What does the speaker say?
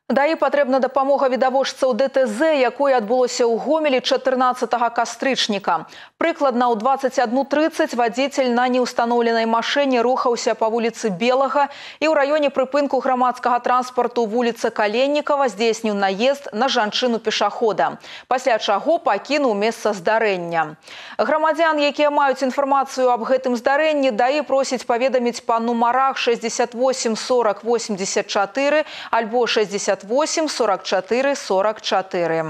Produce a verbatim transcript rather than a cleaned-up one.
ДАІ патрэбна дапамога відавочцаў ДТЗ, якое адбылося ў Гомелі чатырнаццатага кастрычніка. Прыкладна ў дваццаць адну трыццаць вадзіцель на неўстаноўленай машыне рухаўся па вуліцы Белага і ў раёне прыпынку грамадскага транспарту вуліцы Каленнікава здзейсніў наезд на жанчыну-пешахода. Пасля чаго пакінуў месца здарэння. Грамадзян, якія маюць інфармацыю аб гэтым здарэнні, ДАІ просіць паведаміць па нумарах шэсцьдзесят восемь сорок восемьдесят чатыры альбо шэсцьдесят восемь сорок чатыры сорок чатыры.